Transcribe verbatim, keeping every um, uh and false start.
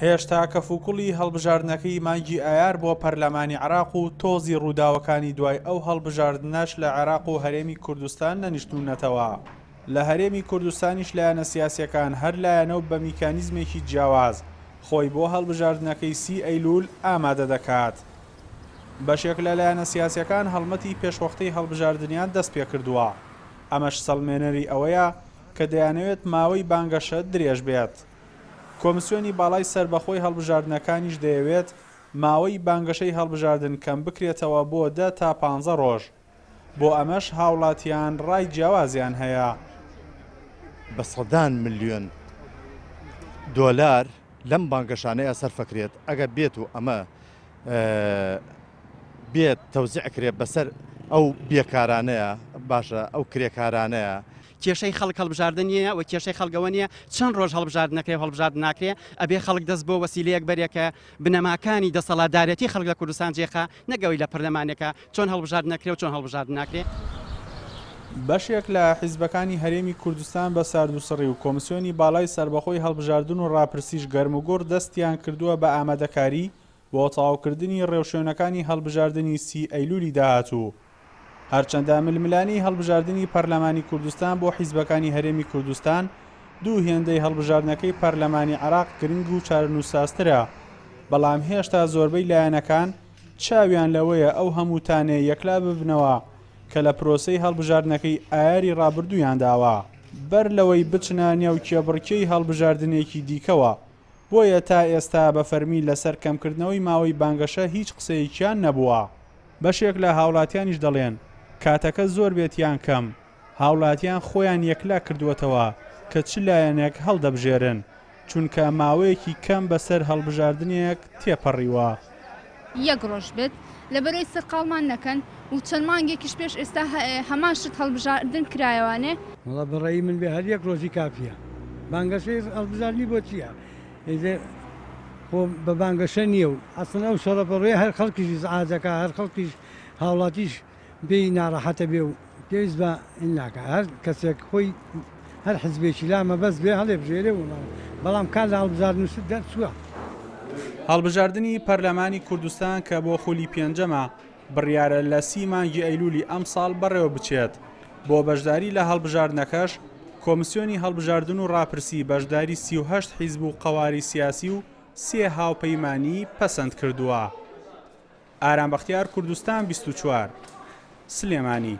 هێشتا کەفوکوڵی هەڵبژاردنەکەی مانگی ئایار بۆ پەرلەمانی عێراق و تۆزی ڕووداوەکانی دوای ئەو هەڵبژاردنەش لە عێراق و هەرێمی کوردستان نەنیشتوونەتەوە. لە هەرێمی کوردستانیش لایەنە سیاسیەکان هەر لایەنە و بە میکانیزمێکی جیاواز خۆی بۆ هەڵبژاردنەکەی سی ئەیلول ئامادە دەکات. بەشێک لە لایەنە سیاسیەکان هەڵمەتی پێشوەختەی هەڵبژاردنیان دەست پێکردووە. ئەمەش سەلمێنەری ئەوەیە کە دەیانەوێت ماوەی بانگەشە درێژ بێت. کۆمسیۆنی باڵای سەربەخۆی هەڵبژاردنەکانیش دەیەوێت ماوەی بانگەشەی هەڵبژاردن کەم بکرێتەوە بۆ دە تا پانزە ڕۆژ. بۆ ئەمەش هاوڵاتیان ڕای جیاوازیان هەیە. بە سەدان ملیۆن دۆلار لەم بانگەشانەیە سەرفەکرێت. ئەگەر بێت و ئەمە بێت تەوزیع کرێت بەسەر ئەو بێکارانەیە، باشە ئەو کرێکارانەیە. کێشەی خەڵک هەڵبژاردن نییە و کێشەی خەڵکەوە نییە چەند ڕۆژ هەڵبژاردن نەکرێ و هەڵبژاردن ناکرێ. ئەبێ خەڵک دەست بۆ وەسیلەیەک بەرێکە بنەماکانی دەسەڵاتدارێتی خەڵک لە کوردستان جێخا، نەگەوەی لە پەرلەمانێکە چۆن هەڵبژاردن نەکرێ و چۆن هەڵبژاردن ناکرێ. بەشێک لە حیزبەکانی هەرێمی کوردستان بە ساردوسڕی و کۆمسیۆنی باڵای سەربەخۆی هەڵبژاردن و ڕاپرسیش گەرموگوڕ دەستیان کردووە بە ئامادەکاری بۆ تەواوکردنی ڕێوشوێنەکانی هەڵبژاردنی سی ئەیلولی داهاتوو. هەرچەندە ململانێی هەڵبژاردنی پەرلەمانی کوردستان بۆ حیزبەکانی هەرێمی کوردستان دوو هێندەی هەڵبژاردنەکەی پەرلەمانی عێراق گرنگ و چارەنووسسازترە، بەڵام هێشتا زۆربەی لایەنەکان چاویان لەوەیە ئەو هەموو تانەیە یەکلا ببنەوە کە لە پرۆسەی هەڵبژاردنەکەی ئایاری ڕابردوویان داوە، بەر لەوەی بچنە نێو کێبڕکێی هەڵبژاردنێکی دیکەوە. بۆیە تا ئێستا بە فەرمی لەسەر کەمکردنەوەی ماوەی بانگەشە هیچ قسەیەکیان نەبووە. بەشێک لە هاوڵاتیانیش دەڵێن کاتەکە زۆر بێت یان کەم، هاوڵاتیان خۆیان یەکلا کردووەتەوە کە چ لایەنێک هەڵدەبژێرن، چونکە ماوەیەکی کەم بەسەر هەڵبژاردنێک تێپەڕیوە. یەک ڕۆژ بێت لەبەرەوەی سەرقاڵمان نەکەن و چەند مانگێکیش پێش ئێستا هەمان شت هەڵبژاردن کرایەوانێ. وەڵا بەڕێی من بێ هەر یەک ڕۆژی کافیە. بانگەشەی هەڵبژاردنی بۆ چییە؟ خۆ بە بانگەشە نییە و ئەسڵەن ئەو شەڕە بەڕێ هەر خەڵکیش ئیزعاجەکە، هەر خەڵکیش هاوڵاتیش پێی ناڕەحەتە بێ و پێویست بە ناکە. هەر کەسێک خۆی هەر حزبێکی لا مەبەست بێ هەڵێ بژێرێ و بەڵام کار لە هەڵبژاردن شت دەرچووە. هەڵبژاردنی پەرلەمانی کوردستان کە بۆ خولی پێنجەمە بڕیارە لە سی مانگی ئەیلولی ئەمساڵ بەڕێوە بچێت. بۆ بەشداری لە هەڵبژاردنەکەش کۆمسیۆنی هەڵبژاردن و ڕاپرسی بەشداری سی و هەشت حیزب و قەواری سیاسی و سێ هاوپەیمانی پەسەند کردووە. ئارام بەختیار، کوردستان بیست و چوار، سلێمانی.